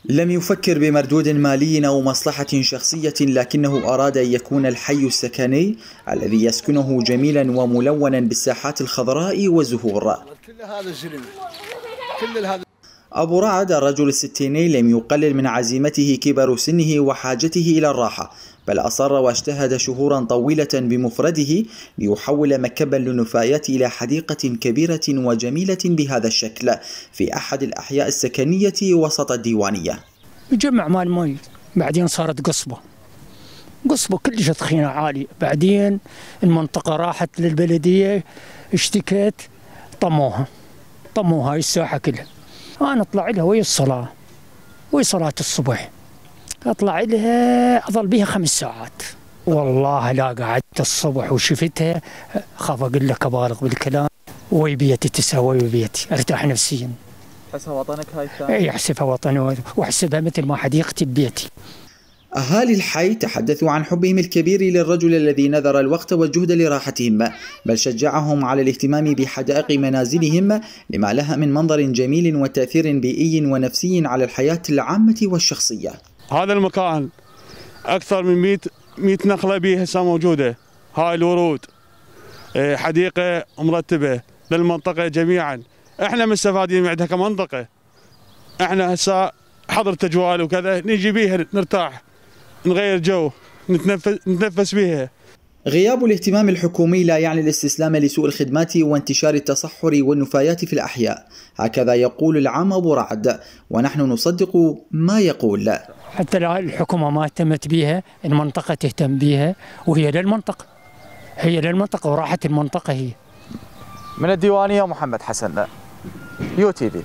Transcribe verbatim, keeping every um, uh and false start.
لم يفكر بمردود مالي أو مصلحة شخصية، لكنه أراد أن يكون الحي السكني الذي يسكنه جميلا وملونا بالساحات الخضراء والزهور. أبو رعد الرجل الستيني لم يقلل من عزيمته كبر سنه وحاجته إلى الراحة، بل أصر واجتهد شهورا طويلة بمفرده ليحول مكبا للنفايات إلى حديقة كبيرة وجميلة بهذا الشكل في أحد الأحياء السكنية وسط الديوانية. جمع مال مي، بعدين صارت قصبة قصبة كلش تخينة عالي، بعدين المنطقة راحت للبلدية، اشتكت، طموها طموها هاي الساحة كلها. أنا أطلع لها ويا الصلاة ويا صلاة الصبح، أطلع لها أظل بها خمس ساعات. والله لا قعدت الصبح وشفتها خاف أقول لك أبالغ بالكلام، وي بيتي تسوى وي بيتي، أرتاح نفسيا. تحسها وطنك هاي الثانية؟ أي أحسبها وطني وأحسبها مثل ما حديقتي ببيتي. أهالي الحي تحدثوا عن حبهم الكبير للرجل الذي نذر الوقت والجهد لراحتهم، بل شجعهم على الاهتمام بحدائق منازلهم لما لها من منظر جميل وتأثير بيئي ونفسي على الحياة العامة والشخصية. هذا المكان أكثر من مئة نخلة به هسه موجودة، هاي الورود، حديقة مرتبة للمنطقة جميعا، احنا مستفادين معدها كمنطقة. احنا هسه حضر تجوال وكذا نجي بيها نرتاح، نغير جو، نتنفس نتنفس بيها. غياب الاهتمام الحكومي لا يعني الاستسلام لسوء الخدمات وانتشار التصحر والنفايات في الأحياء، هكذا يقول العام أبو رعد، ونحن نصدق ما يقول. حتى لو الحكومة ما اهتمت بيها، المنطقة تهتم بيها، وهي للمنطقة، هي للمنطقة وراحة المنطقة هي. من الديوانية محمد حسن، يو تي في.